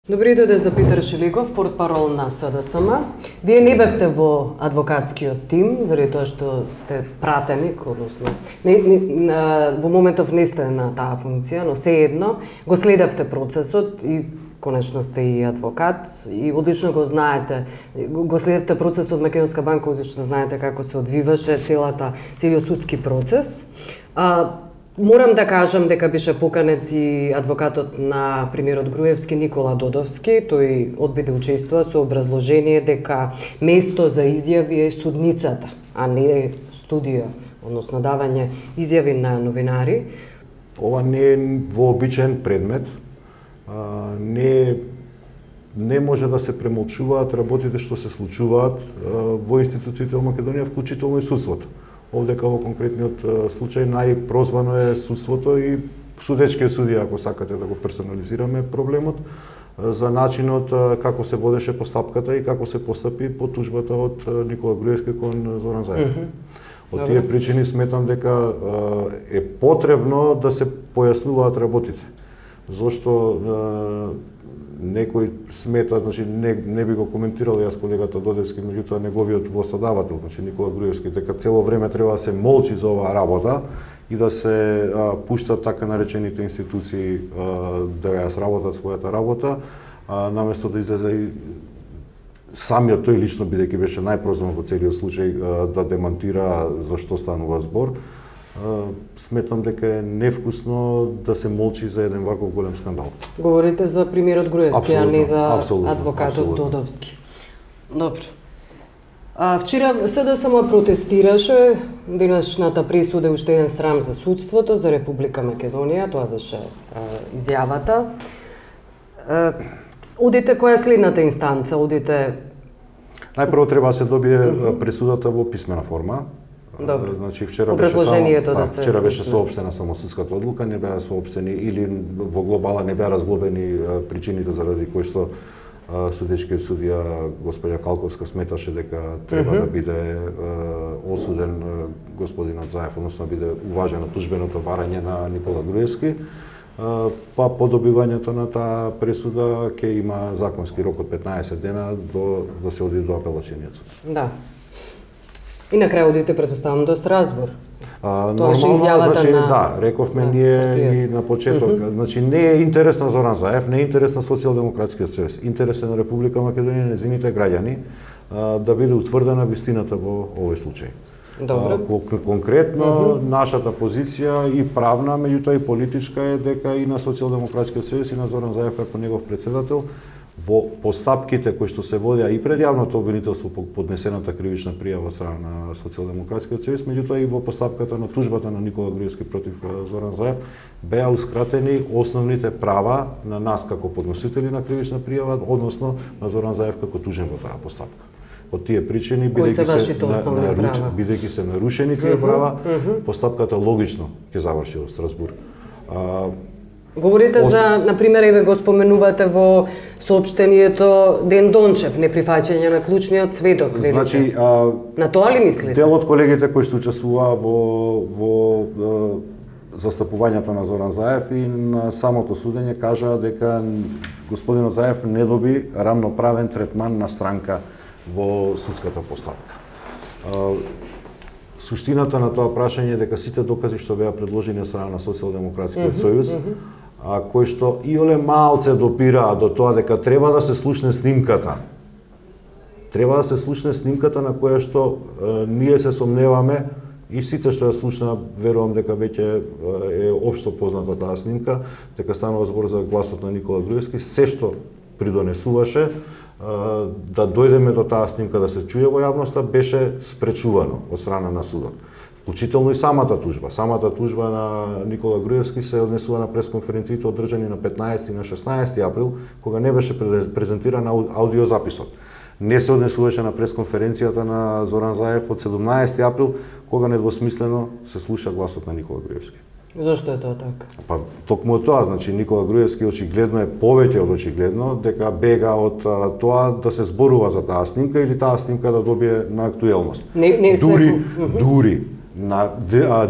Добри дојде за Питер Шиликов, портпарол на СДСМ. Вие не бевте во адвокатскиот тим, заради тоа што сте пратеник, односно во моментов не сте на таа функција, но сеедно го следевте процесот и конечно сте и адвокат и одлично го знаете, го следевте процесот Македонска банка, одлично знаете како се одвиваше целиот судски процес. Морам да кажам дека беше поканет и адвокатот на премиерот Груевски, Никола Додовски. Тој одби да учествува со образложение дека место за изјави е судницата, а не студија, односно давање изјави на новинари. Ова не е вообичаен предмет. Не може да се премолчуваат работите што се случуваат во институциите во Македонија, вклучително и судството. Овдека во конкретниот случај најпрозвано е судството и судечкиот судија, ако сакате да го персонализираме проблемот, за начинот како се водеше постапката и како се постапи по тужбата од Никола Груевски кон Зоран Заев. Од тие причини сметам дека е потребно да се појаснуваат работите. Зошто некој смета, значи не би го коментирал јас колегата Додевски, меѓутоа неговиот гласодавател, значи Никола Груевски, дека цело време треба да се молчи за оваа работа и да се пуштат така наречените институции да ја сработат својата работа, наместо да излезе и самиот тој лично, бидејќи беше најпрозван во целиот случај, да демантира за што станува збор. Сметам дека е невкусно да се молчи за еден ваков голем скандал. Говорите за премиерот Груевски, а не за адвокатот абсолютно. Додовски. Добро. Вчера СДСМ протестираше, денешната пресуда е уште еден срам за судството, за Република Македонија, тоа беше изјавата. Одите која е следната инстанца? Одите... Најпрво треба да се добие пресудата во писмена форма. Добро. Значи вчера беше соопштена само судската одлука, не беа соопштени или во глобала не беа разглобени причините заради кои што судечкиот судија господја Калковска сметаше дека треба да биде осуден господинот Заев, односно да биде уважено тужбеното барање на Никола Груевски. Па по добивањето на таа пресуда ќе има законски рок од 15 дена да се оди до апелацијниот суд. Да. И на крај одите, предоставам, до Страсбур. Нормално, значи, да, рековме ние и на почеток. Значи, не е интерес на Зоран Заев, не е интерес на Социјалдемократскиот сојуз. Интерес е на Република Македонија и нејзините граѓани да биде утврдена вистината во овој случај. Конкретно, нашата позиција и правна, меѓутоа и политичка е дека и на Социјалдемократскиот сојуз и на Зоран Заев како негов председател во постапките кои што се водеа и пред јавното обвинителство по поднесената кривична пријава од страна на Социјалдемократскиот сојуз, меѓутоа и во постапката на тужбата на Никола Груевски против Зоран Заев беа ускратени основните права на нас како подносители на кривична пријава, односно на Зоран Заев како тужен во таа постапка. Од тие причини, бидејќи се нарушени тие права, постапката логично ќе заврши во Страсбург. Говорите за, например, еве го споменувате во соопштението Ден Дончев, неприфаќање на клучниот сведок, велите. Значи, на тоа ли мислите? Дел од колегите кои што учествуваа во застапувањето на Зоран Заев и на самото судење кажаа дека господинот Заев не доби рамноправен третман на странка во судската постапка. Суштината на тоа прашање е дека сите докази што беа предложени од страна на Социјалдемократскиот сојуз, кои што иоле малце допираа до тоа дека треба да се слушне снимката. Треба да се слушне снимката на која што ние се сомневаме и сите што ја слушна, верувам дека веќе е општо позната таа снимка, дека станува збор за гласот на Никола Груевски, се што придонесуваше да дојдеме до таа снимка да се чуе во јавноста беше спречувано од страна на судот. Вклучително и самата тужба. Самата тужба на Никола Груевски се однесува на пресконференциите одржани на 15 и на 16 април, кога не беше презентиран аудиозаписот. Не се однесуваше на пресконференцијата на Зоран Заев од 17 април, кога недвосмислено се слуша гласот на Никола Груевски. Зошто е тоа така? Па токму тоа, значи Никола Груевски очигледно е повеќе од очигледно дека бега од тоа да се зборува за таа снимка или таа снимка да добие на актуелност. на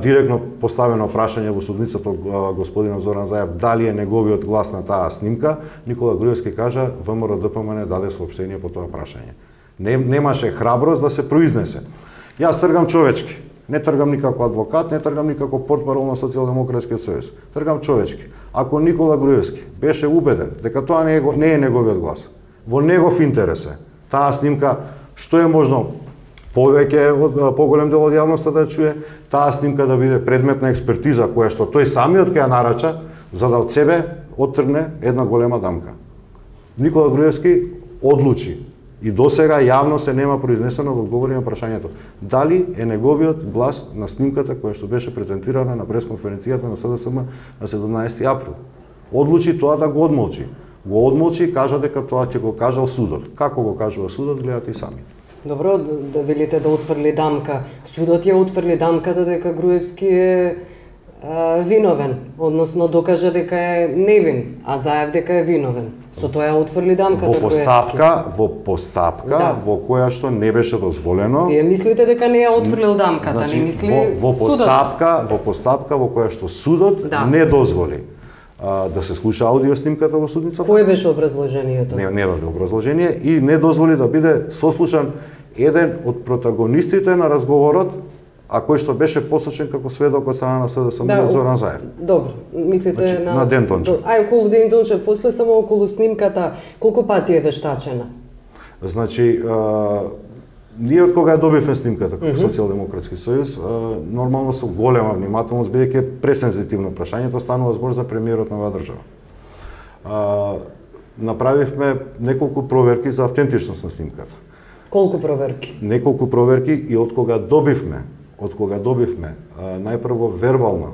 директно поставено прашање во судницата од господинот Зоран Заев дали е неговиот глас на таа снимка, Никола Груевски кажа ВМРО-ДПМН даде соопштение по тоа прашање. Немаше храброст да се произнесе. Јас тргам човечки, не тргам никако адвокат, не тргам никако портпарол на Социјалдемократскиот сојуз. Тргам човечки. Ако Никола Груевски беше убеден дека тоа не е неговиот глас, во негов интерес е, таа снимка што е можно повеќе од поголем дел од јавноста да чуе, таа снимка да биде предмет на експертиза која што тој самиот ќе ја нарача за да од себе оттргне една голема дамка. Никола Груевски одлучи и досега јавно се нема произнесено да одговори на прашањето дали е неговиот глас на снимката која што беше презентирана на пресконференцијата на СДСМ на 17 април. Одлучи тоа да го одмолчи. Го одмолчи и кажа дека тоа ќе го кажал судот. Како го кажува судот, гледате и сами. Добро, да велите да утврли дамка. Судот ја утврли дамката дека Груевски е виновен, односно докажа дека е невин, а Заев дека е виновен. Со тоа ја утврли дамката Груевски. Во постапка во која што не беше дозволено. Вие мислите дека не ја утврлил дамката, значи, не мисли во судот? Во постапка во која што судот не дозволи да се слуша аудиоснимката во судницата. Кое беше образложението? Не даде образложение и не дозволи да биде сослушан еден од протагонистите на разговорот, а кој што беше посочен како сведок од страна на СДСМ Зоран Заев. Добро, мислите значи, на Ден Дончев. Околу Ден Дончев, после само околу снимката, колку пати е вештачена? Значи, ние од кога ја добивме снимката како Социјалдемократски сојуз, нормално со голема внимателност, бидејќи е пресензитивно прашањето, станува збор за премиерот на оваа држава. Направивме неколку проверки за автентичност на снимката. Колку проверки? Неколку проверки и од кога добивме најпрво вербална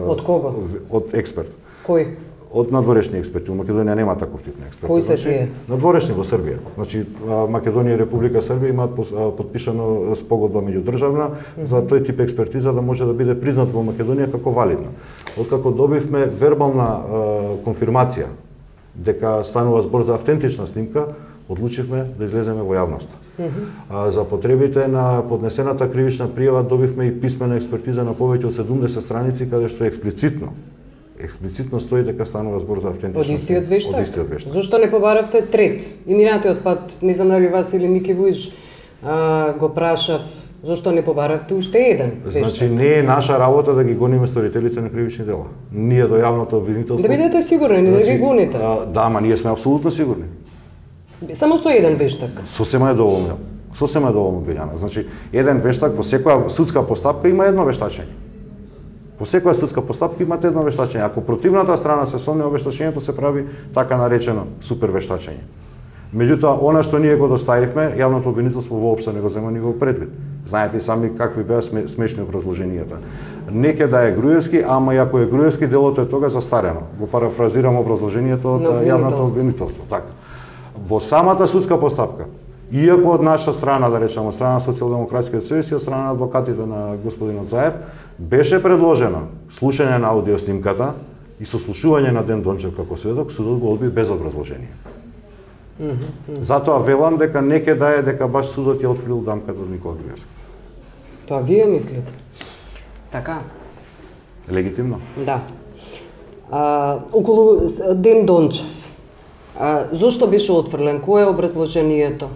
од кого? Од експерт. Кој? Од надворешни експерти. Во Македонија нема таков тип на експерти. Кои се тие? Надворешни во Србија. Значи Македонија и Република Србија имаат подпишано спогодба меѓудржавна за тој тип експертиза да може да биде признат во Македонија како валидна. Откако добивме вербална конфирмација дека станува збор за автентична снимка, одлучивме да излеземе во јавноста. За потребите на поднесената кривична пријава добивме и писмена експертиза на повеќе од 70 страници каде што експлицитно стои дека станува збор за автентичност. Од истиот вештак? Зошто не побаравте трет? И минатиот пат, не знам дали вас или Мики Вујч го прашав, зошто не побаравте уште еден вештак? Значи не е наша работа да ги гониме сторителите на кривични дела. Ние до јавното обвинителство... Да бидете сигурни, не да ги гоните. Да, ама ние сме апсолутно сигурни. Само со еден вештак? Сосема е доволно. Сосема е доволно, Билјана. Значи, еден вештак во секоја судска постапка има едно вештачење. Во секоја судска постапка имате едно вештачење. Ако противната страна се сомнува, вештачењето се прави така наречено супер вештачење. Меѓутоа, она што ние го доставивме, јавното обвинителство воопшто не го зема ни го предвид. Знаете и сами какви беа смешни образложенијата. Неќе да е Груевски, ама и ако е Груевски, делото е тога застарено. Го парафразирам образложението од јавното обвинителство. Така. Во самата судска постапка, иако од наша страна, да речеме, од страна на Социјалдемократскиот сојуз и од страна на адвокатите на господинот Заев, беше предложено слушање на аудиоснимката и сослушување на Ден Дончев како сведок, судот го одби без образложение. Затоа велам дека неќе да е дека баш судот ја отфрил дамката од Никола Груевски. Тоа вие мислите? Така? Легитимно? Да. Околу Ден Дончев, зошто беше отфрлен? Кое е образложението?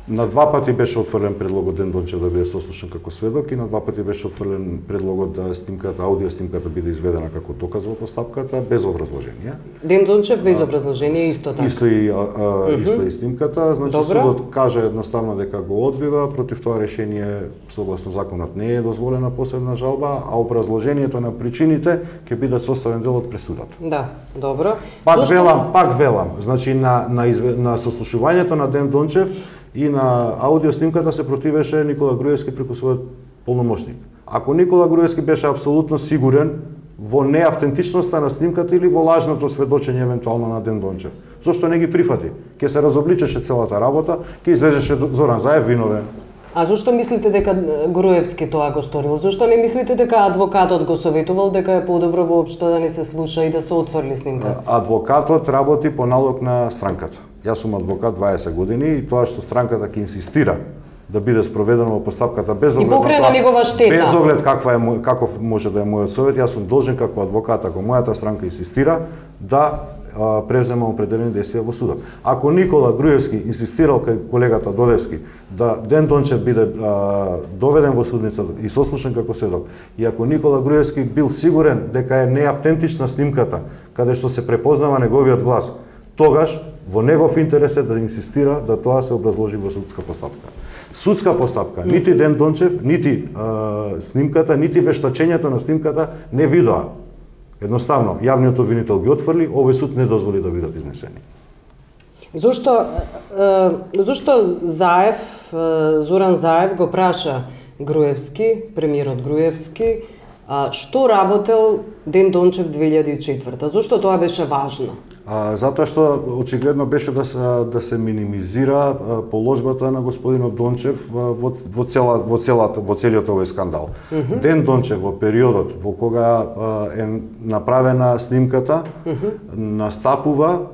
На два пати беше отфрлен предлогот Ден Дончев да биде сослушан како сведок и на два пати беше отфрлен предлогот да снимката, аудиоснимката биде изведена како доказ во постапката без образложение. Ден Дончев без образложение исто така. Исто и снимката, значи Добро. Судот кажа едноставно дека го одбива, против тоа решение согласно законот не е дозволена посебна жалба, а образложението на причините ќе бидат составен дел од пресудата. Да, добро. Пак велам, значи на сослушувањето на Ден Дончев и на аудиоснимката се противеше Никола Груевски преку својот полномошник. Ако Никола Груевски беше апсолутно сигурен во неавтентичноста на снимката или во лажното сведочење евентуално на Ден Дончев, зошто не ги прифати? Ке се разобличеше целата работа, ке излезеше Зоран Заев виновен. А зошто мислите дека Груевски тоа го сторил? Зошто не мислите дека адвокатот го советувал дека е подобро воопшто да не се слуша и да се отфрли снимката? Адвокатот работи по налог на странката. Јас сум адвокат 20 години и тоа што странката ќе инсистира да биде спроведено во постапката без оглед и покрена негова штета. Без оглед каков може да е мојот совет, јас сум должен како адвокат, ако мојата странка инсистира, да презема определени действија во судот. Ако Никола Груевски инсистирал кај колегата Додевски да Ден Дончев биде доведен во судницата и сослушан како сведок, и ако Никола Груевски бил сигурен дека е неавтентична снимката, каде што се препознава неговиот глас, тогаш во негов интерес е да инсистира да тоа се образложи во судска постапка. Судска постапка, нити Ден Дончев, нити снимката, нити вештачењето на снимката не видоа. Едноставно, јавниот обвинител ги отфрли, овој суд не дозволи да бидат изнесени. Зошто Заев, Зоран Заев го праша Груевски, премиерот Груевски, што работел Ден Дончев 2004? Зошто тоа беше важно? Затоа што очигледно беше да се минимизира положбата на господинот Дончев во целиот овој скандал. Ден Дончев во периодот во кога е направена снимката настапува,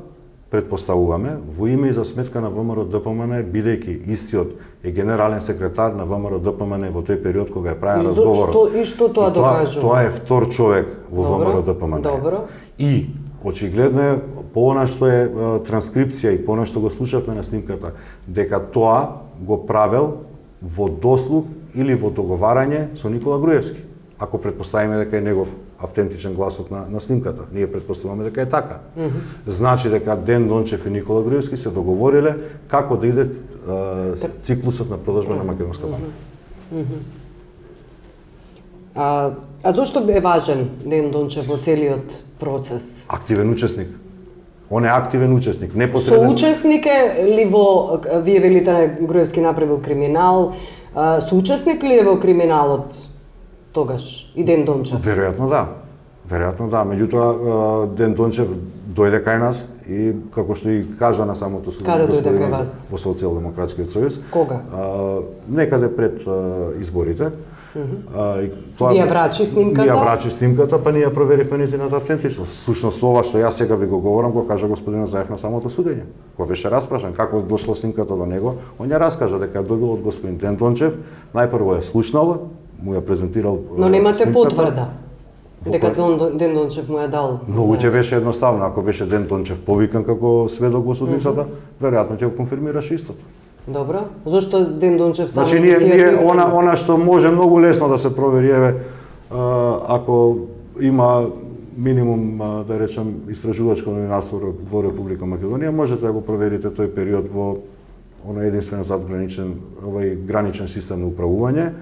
предпоставуваме, во име и за сметка на ВМРО-ДПМН, бидејќи истиот е генерален секретар на ВМРО-ДПМН во тој период кога е правен разговорот. И што тоа докажува? Тоа е втор човек во ВМРО-ДПМН. Добро. И очигледно е по она што е транскрипција и по она што го слушавме на снимката, дека тоа го правел во дослуг или во договарање со Никола Груевски. Ако предпоставиме дека е негов автентичен гласот на снимката, ние предпоставуваме дека е така. Значи дека Ден Дончев и Никола Груевски се договориле како да иде циклусот на продажба на македонска банка. А зошто е важен Ден Дончев во целиот процес? Активен учесник. Он е активен учесник, непосреден. Соучесник е ли во, вие велите Груевски направил криминал, соучесник ли е во криминалот тогаш и Ден Дончев? Веројатно да. Веројатно да, меѓутоа Ден Дончев дојде кај нас и како што и кажа на самото судо. Каде дојде кај вас? Во Социјалдемократскиот сојуз. Кога? Некаде пред изборите. Вие врачи снимката? Ние врачи снимката, па ние проверивме нејзината автентичност. Всушност ова што јас сега ви го говорам, го кажа господинот Заев на самото судење. Кога беше распрашан како дошла снимката до него, он ја раскажа дека ја добил од господин Ден Дончев, најпрво ја слушнал, му ја презентирал. Но немате потврда дека Ден Дончев му ја дал. Многу ќе беше едноставно, ако беше Ден Дончев повикан како сведок во судницата, веројатно ќе го конфирмираше истото. Добро. Зошто Ден Дончев само ние она што може многу лесно да се провери, еве, ако има минимум, да речем, истражувачко новинарство во Република Македонија, можете да го проверите тој период во оној единствен задграничен, граничен систем на управување,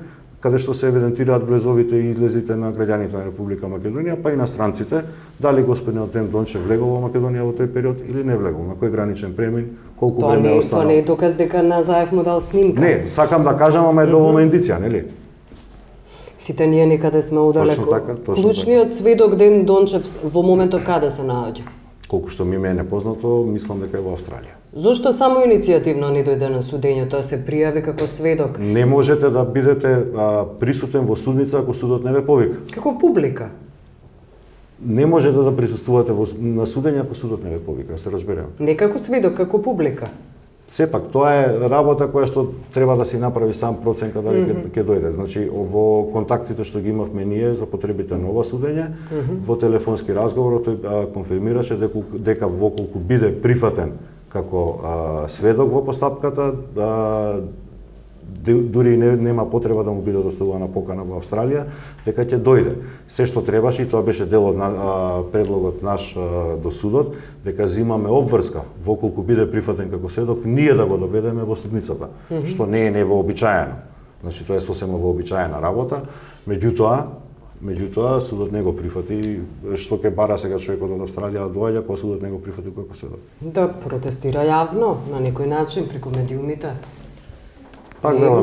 каде што се евидентираат влезовите и излезите на граѓаните на Република Македонија, па и на странците, дали господинот Ден Дончев влегол во Македонија во тој период или не влегол, на кој граничен премин, колку време е останал. Тоа не е доказ дека на Заев му дал снимка. Не, сакам да кажам, ама е доволна индиција, нели? Сите ние некаде сме удалеку. Клучниот сведок Ден Дончев во моментот каде се наоѓа? Колку што ми е непознато, мислам дека е во Австралија. Зошто само иницијативно не дојде на судење, тоа се пријави како сведок? Не можете да бидете присутен во судница ако судот не ве повика. Како публика? Не можете да присуствувате на судење ако судот не ве повика, се разберем. Не како сведок, како публика. Сепак, тоа е работа која што треба да си направи сам проценка дали ќе дојде. Значи, во контактите што ги имавме ние за потребите на ова судење, во телефонски разговор тој конфирмираше дека воколку биде прифатен како сведок во постапката, дури нема потреба да му биде доставувана покана во Австралија, дека ќе дојде. Се што требаше, и тоа беше дел од предлогот наш до судот, дека земаме обврска, воколку биде прифатен како сведок, ние да го доведеме во судницата, што не е невообичаено. Значи, тоа е сосема вообичаена работа, меѓутоа судот не го прифати, што ќе бара сега човекот од Австралија да доаѓа, кога судот не го прифати како сведок. Да протестира јавно, на некој начин, преку медиумите. Така,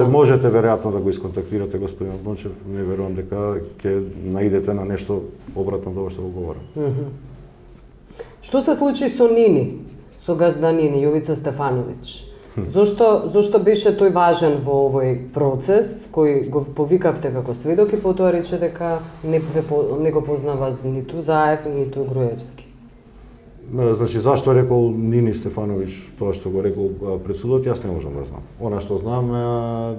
можете веројатно да го исконтактирате господин Дончев, не верувам дека ќе наидете на нешто обратно од ова што го говорам. Што се случи со Нини, со газда Нини, Јовица Стефановиќ? Зошто беше тој важен во овој процес, кој го повикавте како сведок и потоа рече дека не го познава ниту Заев, ниту Груевски? Значи, зашто рекол Нини Стефановиќ тоа што го рекол пред судот, јас не можам да знам. Она што знам е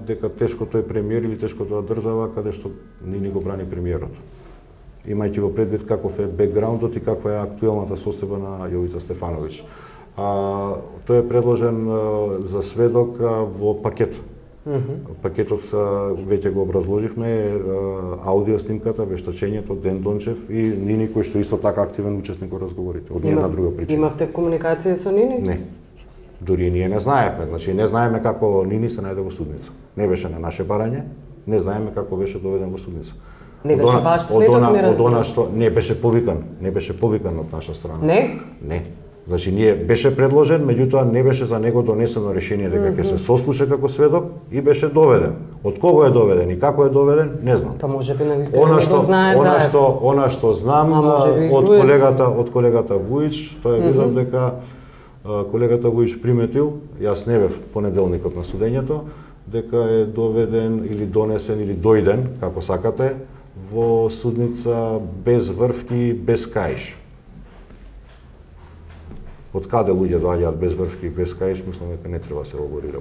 дека тешкото е премиер или тешкото е држава каде што Нини го брани премиерот. Имајќи во предвид каков е бекграундот и каква е актуелната состојба на Јовица Стефановиќ. Тој е предложен за сведок во пакет. Пакетот веќе го образложивме, аудио снимката, вештачењето, Ден Дончев и Нини кој што исто така активен учесник во разговорите. Од една друга причина. Имавте комуникација со Нини? Не. Дури ние не знаевме, значи не знаеме како Нини се најде во судница. Не беше на наше барање, не знаеме како беше доведен во судница. Не беше ваш сведок, не разбирам. Не беше повикан од наша страна. Не? Не. Значи, беше предложен, меѓутоа не беше за него донесено решение дека ќе се сослуша како сведок и беше доведен. Од кого е доведен и како е доведен, не знам. Па можеби навистина не го знае заев. Она што знам од колегата Вуич, тоа видов дека колегата Вуич приметил, јас не бев понеделникот на судењето, дека е доведен или донесен или дојден, како сакате, во судница без врвки, без каиш. Од каде луѓе доаѓаат без врвки и без каиш, мислам дека не треба да се елаборира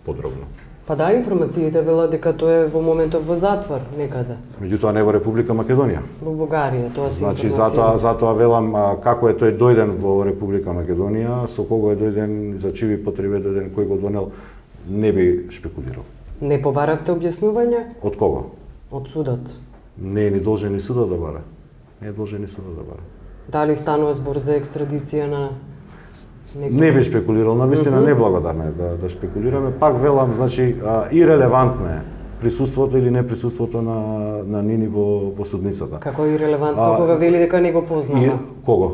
подробно. Па да, информациите велат дека тој е во моментов во затвор некаде. Меѓутоа не во Република Македонија. Во Бугарија, тоа се значи, информација. затоа велам како е тој дојден во Република Македонија, со кого е дојден, за чиви потреби е дојден, кој го донел, не би шпекулирал. Не побаравте објаснување? Од кого? Од судот. Не е ни должен ни судот да бара. Не е должен ни судот да бара. Дали станува збор за екстрадиција на некој? Не би шпекулирал, навистина неблагодарно е да шпекулираме. Пак велам, значи, ирелевантно е присуството или неприсуството на Нини во судницата. Како ирелевантно кога вели дека не го познава? Кого?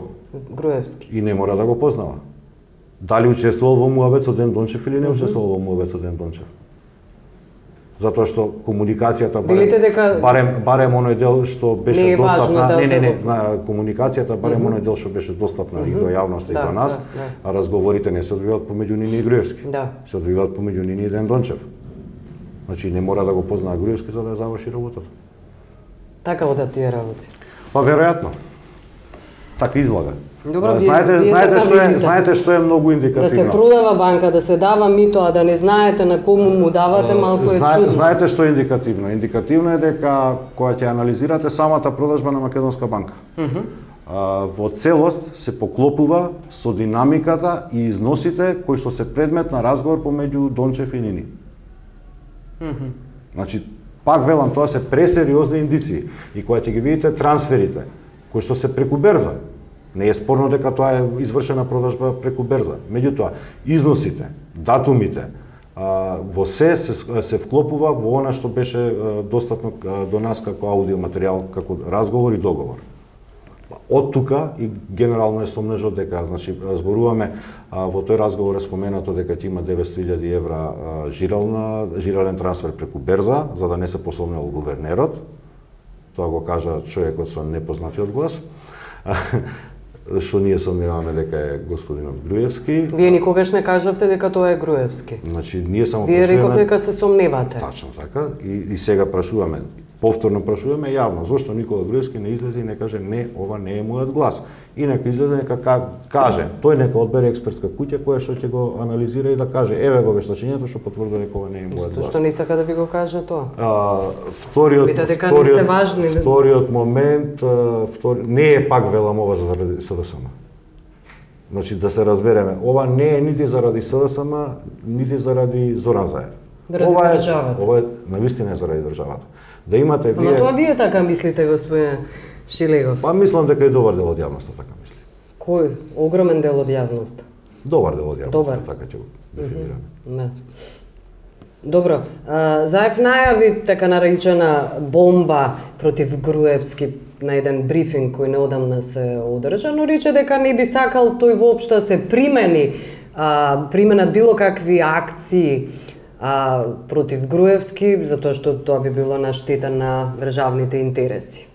Груевски. И не мора да го познава. Дали учествувал во муабет со Ден Дончев или не учествувал во муабет со Ден Дончев? Затоа што комуникацијата барем оној дел што беше достапна, комуникацијата барем оној дел што беше достапна и до јавноста и до нас, а разговорите не се одвиваат помеѓу Нини и Груевски. Се одвиваат помеѓу Нини и Ден Дончев. Значи не мора да го познае Груевски за да ја заврши работата. Така одат тие работи. Па веројатно. Така излага. Добро, знаете што е многу индикативно. Да се продава банка, да се дава мито, а да не знаете на кому му давате, малку е чудно. Знаете што е индикативно? Индикативно е дека кога ќе анализирате самата продажба на Македонска банка, во целост се поклопува со динамиката и износите кои што се предмет на разговор помеѓу Дончев и Нини. Значи, пак велам, тоа се пресериозни индиции. И кога ќе ги видите трансферите, кои што се преку берза, не е спорно дека тоа е извршена продажба преку берза. Меѓутоа, износите, датумите, во се вклопува во она што беше достапно до нас како аудио материјал, како разговор и договор. Од тука и генерално е сомнежот дека, значи, зборуваме во тој разговор е споменато дека ќе има 900.000 евра жирален трансфер преку берза, за да не се посомнел гувернерот. Тоа го кажа човекот со непознатиот глас. Што ние сомневаме дека е господинот Груевски. Вие никогаш не кажавте дека тоа е Груевски. Значи, ние само Вие рековте дека се сомневате. Тачно така. И сега прашуваме, повторно прашуваме јавно, зошто Никола Груевски не излезе и не каже не, ова не е мојот глас. И нека излезе, нека каже, тој нека одбере експертска куќа која што ќе го анализира и да каже еве го вештачењето што потврдува дека ова не е мојот глас. Што не сака да ви го каже тоа? Вториот момент, не е пак велам ова заради СДСМ. Значи да се разбереме, ова не е нити заради СДСМ, нити заради Зоран Заев. Ова е навистина заради државата. Да имате вие. Ама тоа вие така мислите, господине Шилегов? Па мислам дека и добар дел од јавноста така мисли. Кој? Огромен дел од јавноста? Добар дел од јавноста, така ќе го дефинираме. Да. Добро, Заев најави така наречена бомба против Груевски на еден брифинг кој неодамна се одржа, но рече дека не би сакал тој воопшто се применат било какви акции против Груевски, затоа што тоа би било на штета на државните интереси.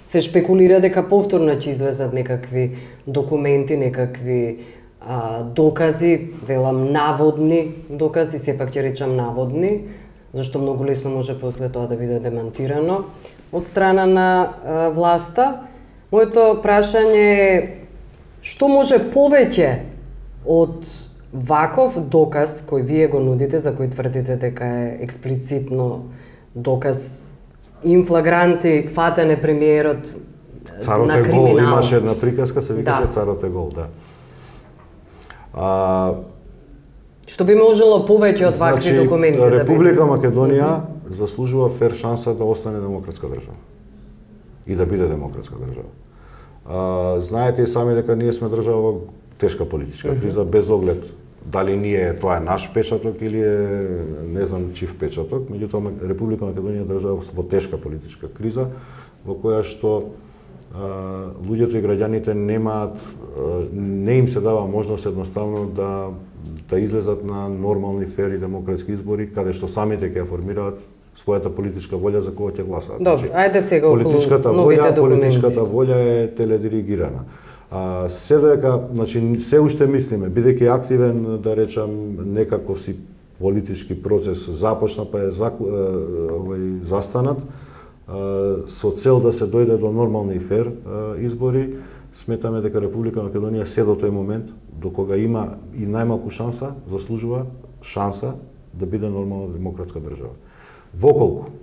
Се шпекулира дека повторно ќе излезат некакви документи, некакви докази, велам наводни докази, сепак ќе речам наводни, зашто многу лесно може после тоа да биде демантирано од страна на власта. Моето прашање е Што може повеќе од ваков доказ кој вие го нудите, за кој тврдите дека е експлицитно доказ инфлагранти фатен е премиерот Царот на е гол, криминал. имаше една приказка, се викаше Царот е гол, да. Што би можело повеќе од вакви документи да биде? Република Македонија заслужува фер шанса да остане демократска држава и да биде демократска држава. Знаете и сами дека ние сме држава во тешка политичка криза, без оглед дали тоа е наш печаток или е не знам чив печаток, меѓутоа Република Македонија е држава во тешка политичка криза во која што луѓето и граѓаните не им се дава можност едноставно да излезат на нормални, фер и демократски избори, каде што самите ќе формираат својата политичка волја за кого ќе гласаат. Добро, ајде сега околу новите документи. Политичката волја е теледиригирана. Се додека, се уште мислиме, бидејќи активен, да речам, некаков си политички процес започна, па е застанат, со цел да се дојде до нормални и фер избори, сметаме дека Република Македонија се до тој момент, до кога има и најмалку шанса, заслужува шанса да биде нормална демократска држава. Воколку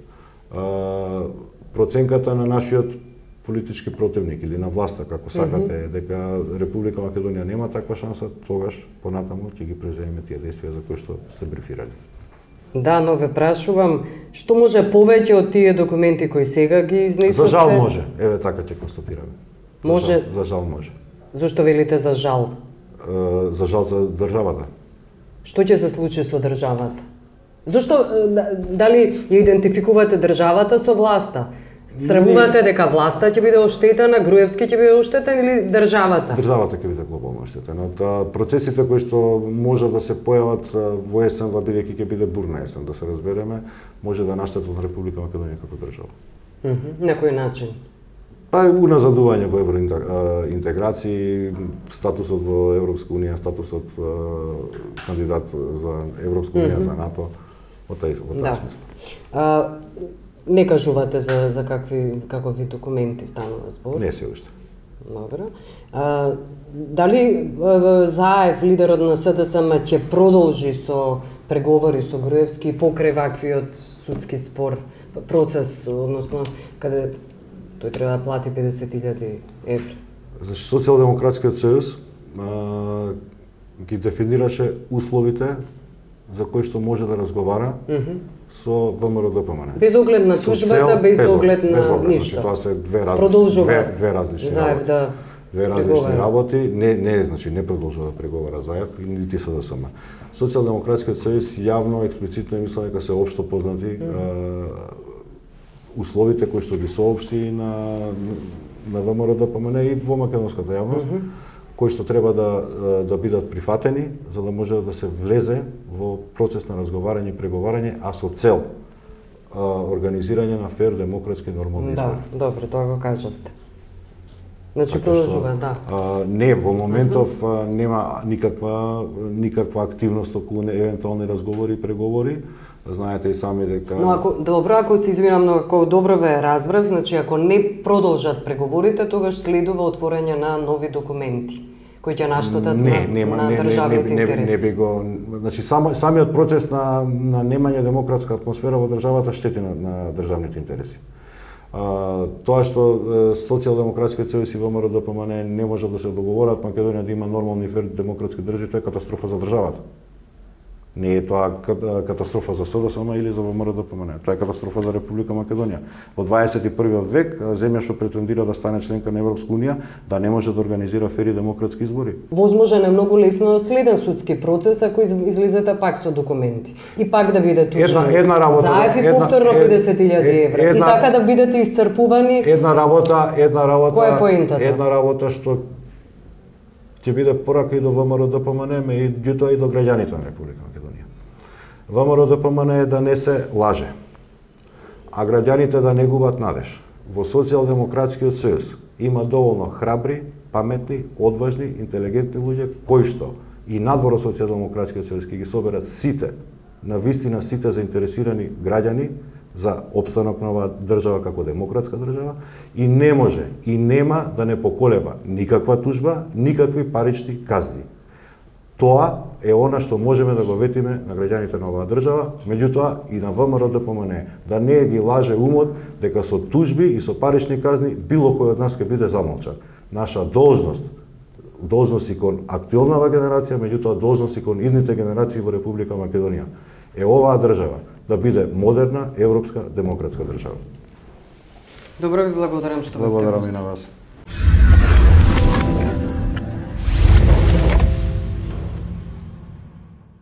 проценката на нашиот политички противник или на власта, како сакате, дека Република Македонија нема таква шанса, тогаш понатаму ќе ги преземеме тие действија за кои што сте брифирали. Да, но ве прашувам, што може повеќе од тие документи кои сега ги изнесовте? За жал може, еве така ќе констатираме. Може. За жал може. Зошто велите за жал? За жал за државата. Што ќе се случи со државата? Зошто, дали ја идентификувате државата со власта? Стравувате дека власта ќе биде оштетена, Груевски ќе биде оштетен или државата? Државата ќе биде глобално оштетена. Процесите кои што може да се појават во есенва, бидејќи ќе биде бурна есен, да се разбереме, може да наштетат на Република Македонија како држава. На кој начин? Уназадување во евроинтеграции, статусот во Европска унија, статусот кандидат за Европска унија, за НАТО, во таа смисла. Не кажувате за какви документи станува збор? Не се уште. Добро. Дали Заев, лидерот на СДСМ, ќе продолжи со преговори со Груевски покрај ваквиот судски спор, процес, односно, каде тој треба да плати 50.000 евра? Значи, Социјалдемократскиот сојуз ги дефинираше условите за кои што може да разговара со ВМРО-ДПМН. Без оглед на тужбата, без оглед на ништо. Тоа се две различни Заев да работи. Не продолжува да преговара Заев и нити СДСМ. Социјалдемократскиот сојуз јавно експлицитно мисля дека се општо познати условите кои што ги соопшти на ВМРО-ДПМН и во македонската јавност, кои што треба да бидат прифатени за да може да се влезе во процес на разговарање и преговарање, а со цел организирање на фер, демократски, нормални избори. Да, добро, тоа го кажавте. Значи продолжува, да. Не, во моментов нема никаква активност околу евентуални разговори и преговори. Знаете и сами дека... Но ако се извинам, но ако добро ве разбрав, значи ако не продолжат преговорите, тогаш следува отворање на нови документи кои ќе наштетат на државните интереси. Не би го... Значи самиот процес на немање демократска атмосфера во државата штети на државните интереси. Тоа што Социјалдемократскиот сојуз и ВМРО-ДПМН не можат да се договорат Македонија да има нормални и фер демократски држави, тоа е катастрофа за државата. Не е тоа катастрофа за СДСМ или за ВМРО-ДПМН. Тоа е катастрофа за Република Македонија. Во 21 век, земја што претендира да стане членка на Европска унија, да не може да организира фери демократски избори. Возможен е многу лесно следен судски процес ако излизате пак со документи. И пак да бидете тужени. Заев и повторно 50.000 евра. И така да бидете исцрпувани. Една работа. Која е поентата? Една работа што ќе биде порака и до ВМРО-ДПМН, меѓутоа и до граѓаните на Република Македонија. ВМРО-ДПМН е да не се лаже, а граѓаните да не губат надеж. Во Социјалдемократскиот сојуз има доволно храбри, паметни, одважни, интелигентни луѓе кои што и надвор од Социјалдемократскиот сојуз ќе ги соберат сите, на вистина сите заинтересирани граѓани за опстанок на оваа држава како демократска држава и не може и нема да не поколеба никаква тужба, никакви парични казни. Тоа е она што можеме да го ветиме на граѓаните на оваа држава, меѓутоа и на ВМРО ДПМН, да не ги лаже умот дека со тужби и со парични казни било кој од нас ќе биде замолчан. Наша должност и кон актуелнава генерација, меѓутоа должност и кон идните генерации во Република Македонија е оваа држава да биде модерна, европска, демократска држава. Добро ви благодарам што бевте. Благодарам и на вас.